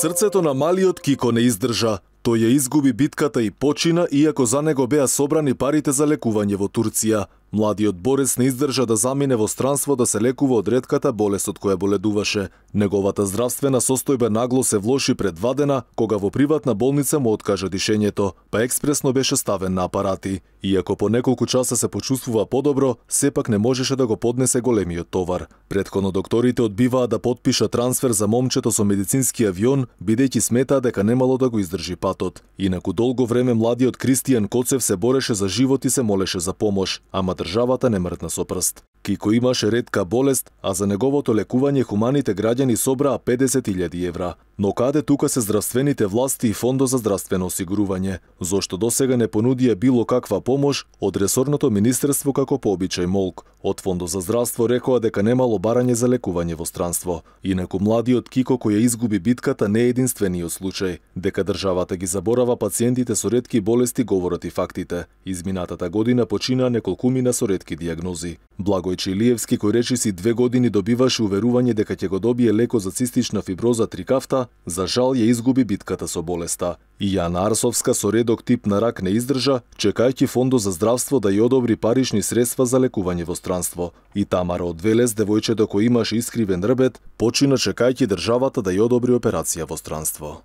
Срцето на малиот Кико не издржа. Тој ја изгуби битката и почина, иако за него беа собрани парите за лекување во Турција. Младиот борец не издржа да замине во странство да се лекува од ретката болест од која боледуваше. Неговата здравствена состојба нагло се влоши пред 2 дена, кога во приватна болница му откажа дишењето, па експресно беше ставен на апарати. Иако по неколку часа се почувствува подобро, сепак не можеше да го поднесе големиот товар. Претходно докторите одбиваа да потпишат трансфер за момчето со медицински авион, бидејќи сметаа дека немало да го издржи патот. Инаку долго време младиот Кристијан Коцев се бореше за живот и се молеше за помош, ама државата не мртна со прст. Кико имаше ретка болест, а за неговото лекување хуманите граѓани собраа 50.000 евра. Но каде тука се здравствените власти и Фондот за здравствено осигурување? Зошто досега не понудија било каква помош од ресорното министерство како по обичај молк? Од Фондот за здравство рекоа дека немало барање за лекување во странство. Инаку младиот Кико кој ја изгуби битката не е единствениот случај. Дека државата ги заборава пациентите со ретки болести говорат и фактите. Изминатата година починаа неколкумина со ретки дијагнози. Благој Чилиевски, кој речиси 2 години добиваше уверување дека ќе го добие лекот за цистична фиброза трикафта, за жал ја изгуби битката со болеста. И Јана Арсовска со редок тип на рак не издржа, чекајќи Фондот за здравство да ја одобри парични средства за лекување во странство. И Тамара од Велес, девојчето кој имаше искривен рбет, почина чекајќи државата да ја одобри операција во странство.